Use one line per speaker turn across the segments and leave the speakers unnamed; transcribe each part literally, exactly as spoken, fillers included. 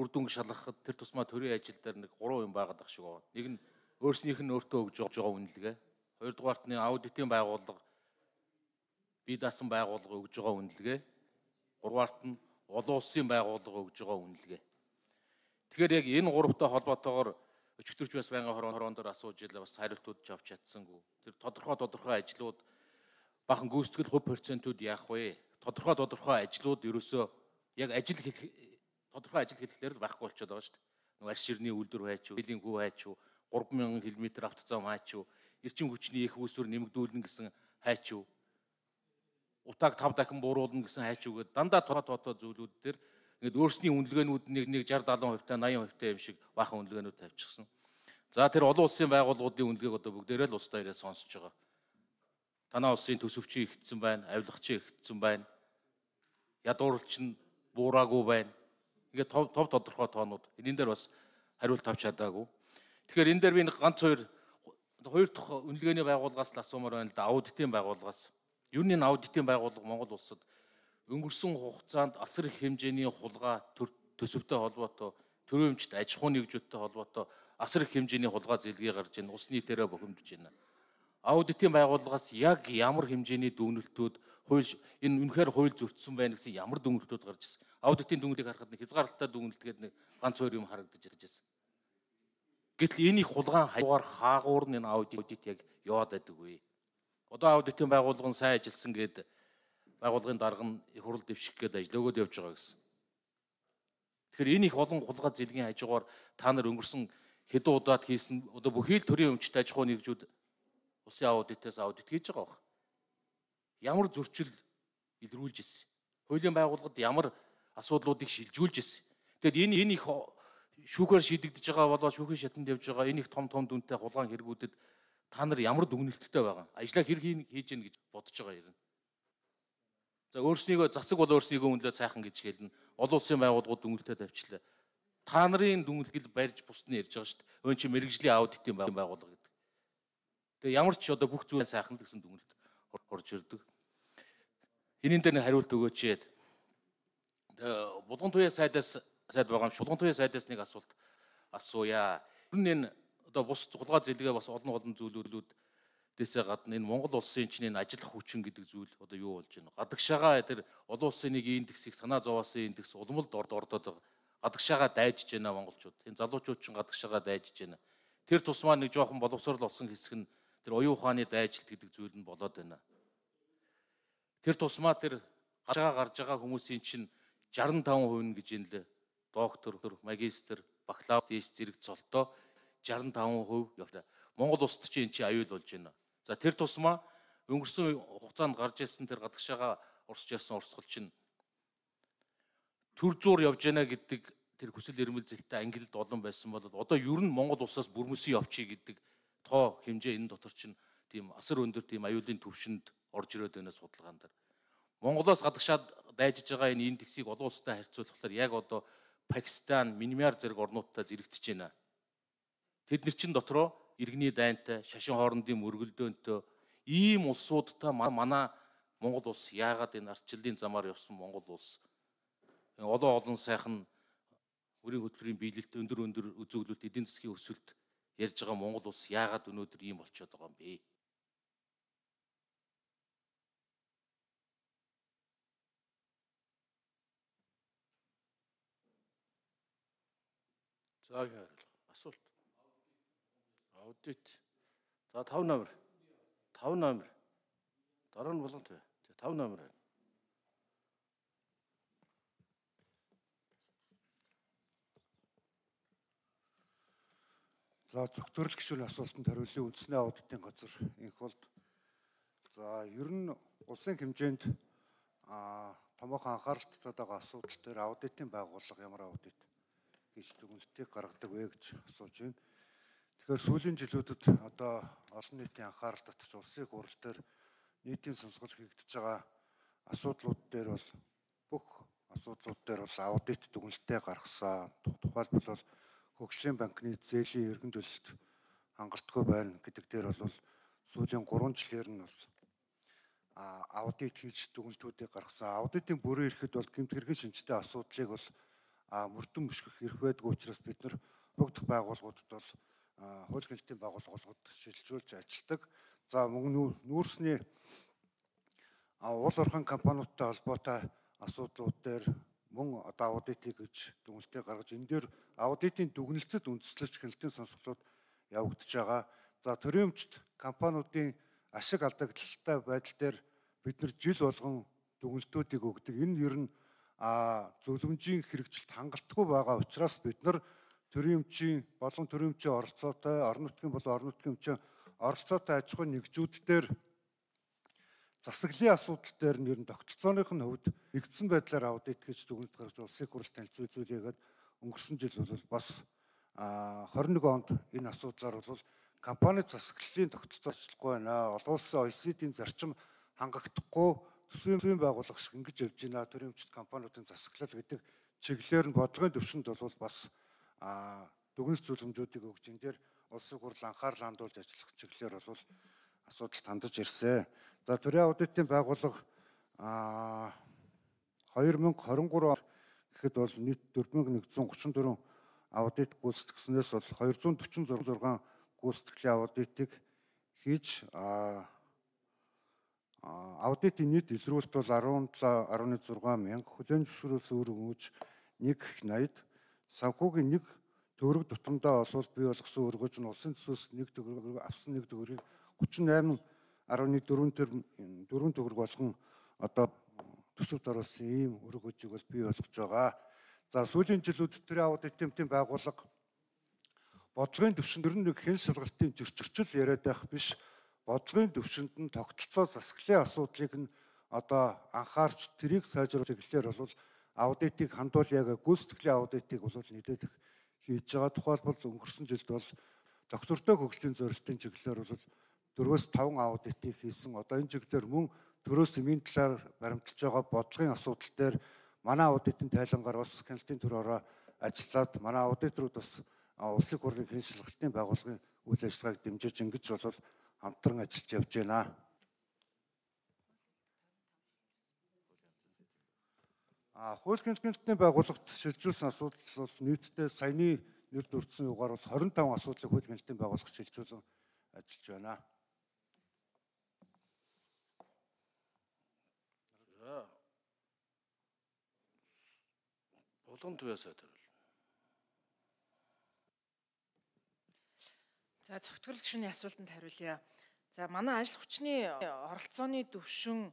үр дүнг шалгахад тэр тусмаа төрийн ажил дээр нэг гурван юм байгаад ах шиг байна. Нэг нь өөрснийх нь өөртөө өгж байгаа үнэлгээ. Хоёрдугаарт нь аудитын байгууллага бие даасан байгууллага өгж байгаа үнэлгээ. Гураваарт нь олон улсын байгууллага өгж байгаа үнэлгээ. Тэгэхээр яг энэ гуравтай холбоотойгоор өчигдөрч бас байнгын хорон хорон дээр асууж илээ бас хариултууд ч авч чадсангүй. Тэр тодорхой тодорхой ажлууд бахан гүйцэтгэл хувь процентууд яах вэ? Тодорхой тодорхой ажлууд ерөөсөө яг ажил хэлэх тодорхой ажил хэлэхлээр л байхгүй болчиход байгаа шүү дээ. Нэг арс ширний үйлдвэр хайч уу, хилийн хүү хайч уу, гурван мянган км автозам хайч уу, эрчим хүчний их үүсвэр нэмэгдүүлнэ гэсэн хайч уу, утааг тав дахин бууруулна гэсэн хайч уу гэдэг дандаа тоо тоо зүйлүүд дээр ингээд өөрсний үнэлгээнүүд нэг нэг шестьдесят севент хувь та ninety хувь та юм шиг баахан үнэлгээнүүд тавьчихсан. За тэр олон улсын байгууллагуудын үнэлгээг одоо бүгдээрээ л улс даяараа сонсож байгаа. Танай улсын төсөвчин ихтсэн байна, авилгачин ихтсэн байна. Ядууралч нь буураагүй байна. Ингээд тов тов тодорхой тоонууд. Энэ дээр бас хариулт авч чадаагүй. Тэгэхээр энэ дээр би нэг ганц хоёр хоёр дахь үнэлгээний байгууллагаас л асуумаар байна л да. Аудитын байгууллагаас. Юу нэг аудитын байгууллага Монгол улсад өнгөрсөн хугацаанд асар их хэмжээний хулгай төсөвтэй холбоотой, төрөөмжт аж ахуйн нэгжүүдтэй холбоотой асар их хэмжээний хулгай зэлгээ гарч ийн ус нийтээрээ бохимдож байна. Аудитын байгууллагаас яг ямар хэмжээний дүгнэлтүүд хууль энэ үнэхээр хууль зөрчсөн байна гэсэн ямар дүгнэлтүүд гарч ирсэн. Аудитын дүгнэлтийг харахад нэг хязгаарлалтай дүгнэлтгээд нэг ганц хоёр юм харагдаж ирсэн. Гэтэл энэ их хулгайн хаягаар хаагуур нь энэ аудит яг яваад байдаг вэ? Одоо аудитын байгууллага нь сайн ажилласан гэдэг байгууллагын дарга нь их хурл дэвших гээд ажил өгөөд явж байгаа гэсэн. Тэгэхээр энэ их олон хулгай зэлгийн хажуугаар та нар өнгөрсөн хэдэн удаад хийсэн одоо бүхий л төрийн өмчт аж ахуй нэгжүүд улсын аудитээс аудит хийж байгаа баг. Ямар зөрчил илрүүлж ирсэн. Хуулийн байгууллагад ямар асуудлуудыг шилжүүлж ирсэн. Тэгэд энэ энэ их шүүхээр шийдэгдэж байгаа болоо шүүхийн шатанд явж байгаа энэ их том том дүнтэй хулгайн хэрэгүүдэд та нар ямар дүгнэлттэй байгаа. Ажлаа хэрэг хийж гин гэж бодож байгаа юм. За өөрснийгөө засаг бол өөрснийгөө үнэлээд сайхан гэж хэлнэ. Олон улсын байгууллагууд дүгнэлтэд тавьчлаа. Та нарын дүгнэлтийг барьж бусд нь ярьж байгаа шүү дээ. Өн чи мэрэгжлийн аудитын байгууллага гэдэг. Тэгээ ямар ч одоо бүх зүйл сайхан гэсэн дүгнэлт орж ирдэг. Энийн дээр нэг хариулт өгөөч яад. Булган туяа сайдаас сайд байгаа юм. Шулган туяа сайдаас нэг асуулт асууя. Ер нь энэ одоо бус хулгай зэлгээ бас олон олон зүйлүүд дэсээ гадна энэ Монгол улсын чинь энэ ажиллах хүчин гэдэг зүйл одоо юу болж байна? Гадагшаага тэр олон улсын нэг индексийг санаа зовоосон индекс улмалд ордоод байгаа. Гадагшаага дайжж байна монголчууд. Энэ залуучууд чинь гадагшаага дайжж байна. Тэр тусмаа нэг жоохон боловсрол болсон хэсэг нь тэр оюун ухааны дайжилт гэдэг зүйл нь болоод байна. Тэр тусмаа тэр гадагшаага гарч байгаа хүмүүсийн чинь шестьдесят и пять хувь гэж юм лээ. Доктор, магистр, бакалавр, зэрэг цолтоо шестьдесят и пять хувь явлаа. Монгол улсад чинь энэ чинь аюул болж байна. За тэр тусмаа өнгөрсөн хугацаанд гарч ирсэн тэр гадагшаага урсж явсан урсгал чинь төр зуур явж байна гэдэг тэр хүсэл эрмэлзэлтэй ангилалд олон байсан бол одоо ер нь Монгол улсаас бүрмөсөн явчих гэдэг тоо хэмжээ энэ дотор чинь тийм асар өндөр тийм аюулын түвшинд орж ирээд байна судалгаан дээр. Монголоос гадагшаад дайжиж байгаа энэ индексийг олон улстай харьцуулахаар яг одоо Пакистан, Мянмар зэрэг орнуудтай зэрэгцэж байна. Тэд нар чин дотроо иргэний дайнтай, шашин хоорондын мөргөлдөөнтэй ийм улсуудтай манай Монгол улс яагаад энэ ардчлалын замаар явсан Монгол улс олон олон сайхан өрийн хөтөлбөрийн биелэлт өндөр өндөр үзүүлэлт эдийн засгийн өсөлт ярьж байгаа Монгол улс яагаад өнөөдөр ийм болчиход байгаа юм бэ? За яарал асуулт. Аудит. За тавь номер. тавь номер. Дараа нь болгон тэ. тавь номер байна.
За зөвхөн гишүүний асуултанд хариуллын үндэсний аудитын газар инх болд. За ер нь улсын хэмжээнд а томоохон анхаарал татаад байгаа асуудал дээр аудитын байгууллага ямар аудит гэж дүгнэлтийг гаргадаг вэ гэж асууж байна. Тэгэхээр сүүлийн жилүүдэд одоо олон нийтийн анхаарал татж улсын хурал дээр нийтийн сонсгол хийгдэж байгаа асуудлууд дээр бол бүх асуудлууд дээр бол аудит дүгнэлтээ гаргасан. Тухайлбал бол хөгжлийн банкны зээлийн эргэн төлөлт хангалтгүй байна гэдэг дээр бол сүүлийн гурван жилээр нь бол аудит хийж дүгнэлтүүдийг гаргасан. Аудитын бүрэн ирэхэд бол гэмт хэргийн шинжтэй асуудлыг бол мөрдөн мөшгөх эрх байдаг учраас бид нар уг дахь байгууллагуудад бол хууль гэнэлтийн байгууллагууд шилжүүлж ажилладаг. За мөн нүүрсний уул уурхайн компаниудтай холбоотой асуудлууд дээр мөн одоо аудитыг гэж дүгнэлтээ гаргаж энэ дээр аудитын дүгнэлтэд үндэслэж гэнэлтийн сонсголууд явагдаж байгаа. За төрийн өмчт компаниудын ашиг алдагдaltaй байдал дээр бид нар жил болгон дүгнэлтүүдийг өгдөг. Энэ ер нь зөвлөмжийн хэрэгжилт хангалтгүй байгаа учраас бид нар төрийн өмчийн болон төрийн өмчийн оролцоотой, орон нутгийн болон орон нутгийн өмчийн оролцоотой аж ахуйн нэгжүүд дээр засаглалын асуудал дээр нь ер нь тогтолцооных нь хувьд нэгдсэн байдлаар аудит гэж дүгнэлт гаргаж улсын хурлд танилцуулъягээд өнгөрсөн жил бол бас хорин нэг онд энэ асуудлаар бол компани засаглалын тогтолцоо ажиллахгүй байна. Олон улсын о е си ди-ийн зарчим хангахдахгүй төсвийн байгууллага шиг ингэж явж байна. Төрийн өмчт компаниудын засаглал гэдэг чиглэлээр нь бодлогын төвшөнд бол бас дүгнэлт зөвлөмжүүдийг өгж энэ дээр улсын хурл анхаарал хандуулж ажиллах чиглэлээр бол асуудалд хандаж ирсэн. За төрийн аудитын байгууллага хоёр мянга хорин гурав гэхэд бол нийт дөрвөн мянга нэгдүсэн гучин дөрвөн аудит гүйцэтгснээс бол хоёр зуун дөрвөн зургаан гүйцэтгэлийн аудитыг хийж аудитын нийт илрүүлэлт бол арван долоо гаруй зураг мянга, хүлээн зөвшөөрөөс өөр өгөөж нэг их найд, санхүүгийн нэг төгрөг тутамдаа олвол бий болгосон өргөж нь улсын төсөөс нэг төгрөг авсан нэг төгрөгийг гучин найман гаруй дөрвөн дөрвөн төгрөг болгон одоо төсөвт оруулсан ийм өргөжийг бол бий болгож байгаа. За сүүлийн жилүүд төрийн аудитын байгууллага бодлогын төвшөнд нэг хэн шалгалтын зөрчилчл яриад байх биш. Бодлогын төвшөнд нь тогтолцоо засаглалын асуудлыг нь одоо анхаарч тэрийг сайжруулах чиглэлээр бол аудитыг хандуулъяга гүйцэтгэлийн аудитыг бол нийлээд хийж байгаа. Тухайлбал өнгөрсөн жилд бол доктортой хөгжлийн зорилтын чиглэлээр бол дөрвөөс таван аудитыг хийсэн. Одоо энэ чиглэлээр мөн төрөөс эмийн талаар баримталж байгаа бодлогын асуудал дээр манай аудитын тайлангаар бас гэнэлтийн төрөөрөө ажиллаад манай аудиторууд бас улсын хурлын хэн шалгалтын байгууллагын үйл ажиллагааг дэмжиж ингэж бол хамтран ажиллаж явж байна. А хууль гэнэлтийн байгууллагт шилжүүлсэн асуудал бол нийтдээ саяны нэр дурдсан югаар бол хорин таван асуудлыг хууль гэнэлтийн байгууллага шилжүүлэн ажиллаж байна.
За Булган Туяасаа төрөл.
За цогтгол гишүүний асуултанд хариулъя. За манай ажил хүчний оролцооны түвшин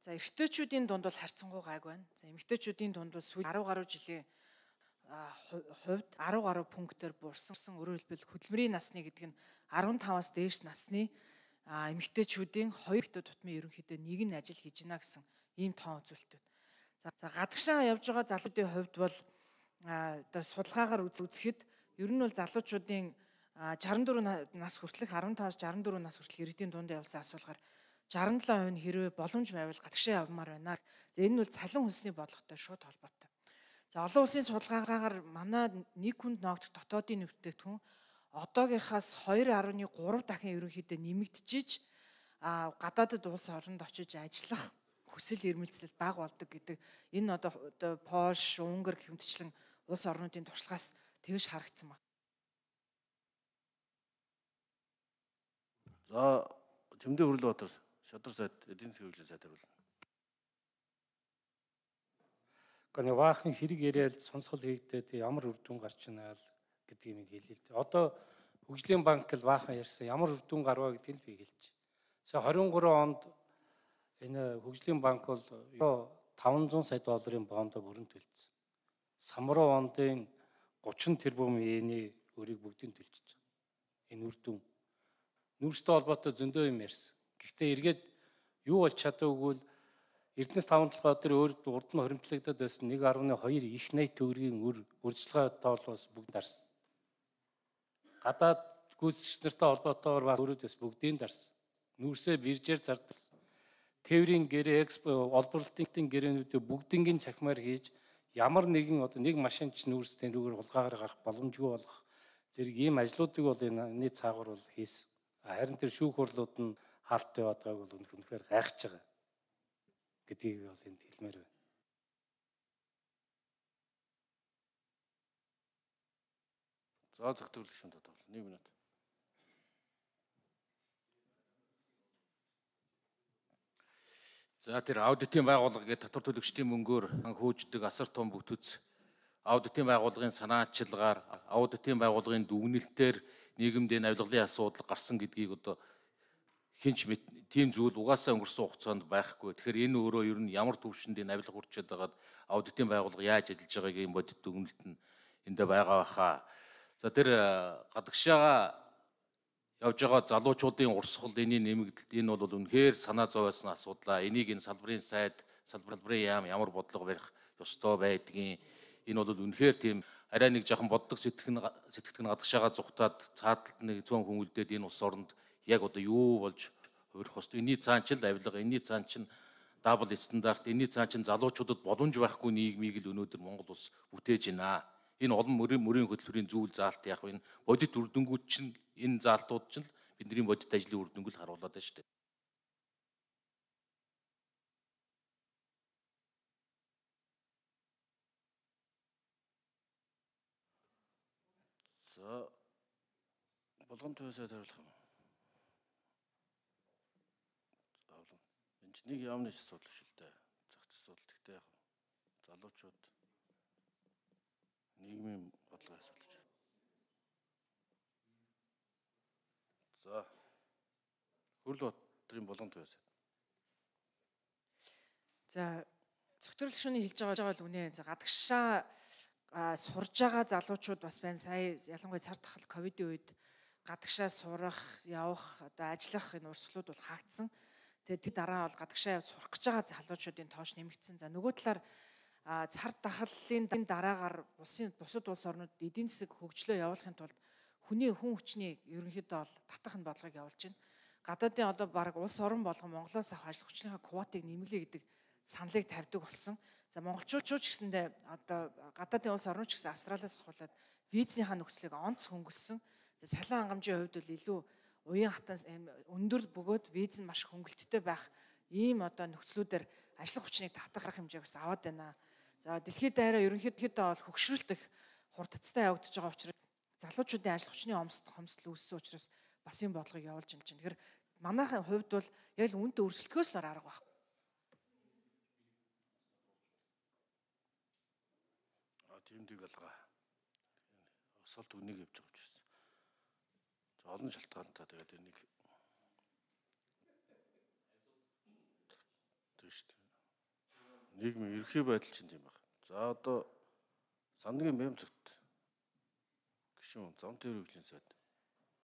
за эрэгтэйчүүдийн дунд бол харьцангуй гайг байна. За эмэгтэйчүүдийн дунд бол сүүл арван гаруй жилийн хувьд арван гаруй пунктээр буурсан. Өөрөөр хэлбэл хөдөлмөрийн насны гэдэг нь арван таваас дээш насны эмэгтэйчүүдийн хоёр ихтэй тутмын ерөнхийдөө нэг нь ажил хийж гинэ гэсэн ийм тоон үзүүлэлтүүд. За гадагшаа явж байгаа залуудын хувьд бол одоо судалгаагаар үзэхэд ер нь бол залуучуудын шаран дөрөв нас хүртэлх арван таваас шаран дөрөв нас хүртэл иргэдийн дунд явуулсан асуулгаар шаран долоо хувь нь хэрвээ боломж байвал гадагшаа явмаар байна. За энэ нь бол цалин хөлсний бодлоготой шууд холбоотой. За олон улсын судалгаагаар манай нэг хүнд ноогдох дотоодын нэмэгдээгдэхүүн одоогийнхаас хоёр гаруй гурав дахин ерөнхийдөө нэмэгдэж а гадаадд улс оронд очиж ажиллах хүсэл эрмэлзэл бага болдог гэдэг энэ одоо Польш, Унгар гэмтчлэн улс орнуудын туршлагаас тэгж харагдсан байна.
За Чимдээ Хүрлбаатар шадар сайд эдийн засгийн хөгжлийн сайд хариулна.
Гэнэ баахан хэрэг яриад сонсгол хийгдээд ямар үр дүн гарч ийна гэдгийг минь хэлээ л дээ. Одоо хөгжлийн банк л баахан ярьсан ямар үр дүн гарваа гэдгийг л би хэлж. За двадцать три онд энэ хөгжлийн банк бол таван зуун сая долларын бондо бүрэн төлсөн. Самруу ондын гучин тэрбум йений өрийг бүгдийг төлчихөж байгаа. Энэ үр дүн нүүрстэй холбоотой зөндөө юм ярьсан. Гэхдээ эргээд юу болж чадаагүй л Эрдэнэс таван толгой дээр өөр урд нь хоримтлагдаад байсан нэг гаруй хоёр их найт төгрөгийн өр урьдчилгаа тоолоос бүгд дарсан. Гадаад гүйцэтгэгч нартай холбоотойгоор бас өөрөөдөөс бүгдийг дарсан. Нүүрсээ биржээр зардаг. Тээврийн гэрээ, экспо, олборлолтын гэрээнүүдээ бүгднийг цахимаар хийж ямар нэгэн одоо нэг машинч нүүрстэй рүүгээр хулгаагаар гарах боломжгүй болох зэрэг ийм ажлуудыг бол энэ цаагуур бол хийсэн. Харин тэр шүүх хурлууд нь хаалттай байгааг бол үнэхээр гайхаж байгаа гэдгийг би бол энд хэлмээр байна.
За зөвхөн шин тодорхойлол нэг минут. За тэр аудитын байгууллага гэдэг татвар төлөгчдийн мөнгөөр хөөждөг асар том бүтэц аудитын байгууллагын санаачилгаар аудитын байгууллагын дүгнэлтээр нийгэмд энэ авилгалын асуудал гарсан гэдгийг одоо хинч тийм зүйл угаасаа өнгөрсөн хугацаанд байхгүй. Тэгэхээр энэ өөрөө ер нь ямар төвшөнд энэ авилга хүрчээд байгаад аудитын байгууллага яаж ажиллаж байгааг энэ бодит дүгнэлт нь эндээ байгаа баха. За тэр гадагшаага явж байгаа залуучуудын урсгал энэний нэмэгдэлт энэ бол үнэхээр санаа зовоосон асуудлаа. Энийг энэ салбарын сайд, салбарын яам ямар бодлого барих ёстой байдгийг энэ бол үнэхээр тийм арай нэг жоохон боддог сэтгэн сэтгэгдэн гадагшаага зүхтаад цааталд нэг цөөн хүмүүлдээд энэ улс оронд яг одоо юу болж хувирах ёстой. Энэний цаан ч л авилга, энэний цаан ч дабл стандарт, энэний цаан ч залуучуудад боломж байхгүй нийгмийг л өнөөдөр Монгол улс бүтээж байна. Энэ олон мөрийн мөрийн хөтөлбөрийн зүйл заалт яг энэ бодит үр дүнгууд чинь энэ заалтууд чинь бидний бодит ажлын үр дүнгэл харуулдаг шүү дээ. За болгон төвөөсөө хариулах юм. За болгон. Энд чинь нэг яамны асуудал шүү дээ. Зах зээл асуудал гэхдээ яг залуучууд нийгмийн бодлого асуудал. За хөрөл батрын болгон төвөөс.
За зөвхөн шөнө хэлж байгаа бол үнэ. За гадагшаа сурж байгаа залуучууд бас байна. Сая ялангуяа цар тахал ковидын үед гадагшаа сурах, явах, одоо ажиллах энэ урсгалууд бол хаагдсан. Тэгээд тэр дараа бол гадагшаа явж сурах гэж байгаа залуучуудын тоош нэмэгдсэн. За нөгөө талаар цар тахлын дараагаар улсын бусад улс орнууд эдийн засаг хөгжлөө явуулахын тулд хүний хүн хүчний ерөнхийдөө бол татах нь бодлогыг явуулж байна. Гадаадын одоо баг улс орон болгон Монголоос авах ажил хүчлийнхаа квотыг нэмэлээ гэдэг саналыг тавьдаг болсон. За монголчууд ч гэсэндээ одоо гадаадын улс орнууд ч гэсэн Австралиас ахуулаад визийнхаа нөхцөлийг онц хөнгөлсөн. За салан хангамжийн хувьд бол илүү уян хатан өндөр бөгөөд виз нь маш хөнгөлттэй байх ийм одоо нөхцлүүдээр ажил хүчнийг татах хэмжээг бас аваад байна. За дэлхийд даяараа ерөнхийдөө бол хөгшрөлт их хурдцтай явагдаж байгаа учраас залуучуудын ажил хүчний хомсдол үүссэн учраас бас энэ бодлогыг явуулж байна чинь. Тэгэхээр манайхын хувьд бол яг л үнэтэй өрсөлдөхөөс л арга байхгүй.
А тиймдэг алгаа. Асуулт үнийг явж байгаа учраас. За олон шалтгаантай тэгээд энийг тийш үү. Нийгмийн ерхий байдал чинь тийм байна. За одоо сангийн бямцогт гишүүн зам тээврийн хөгжлийн сайд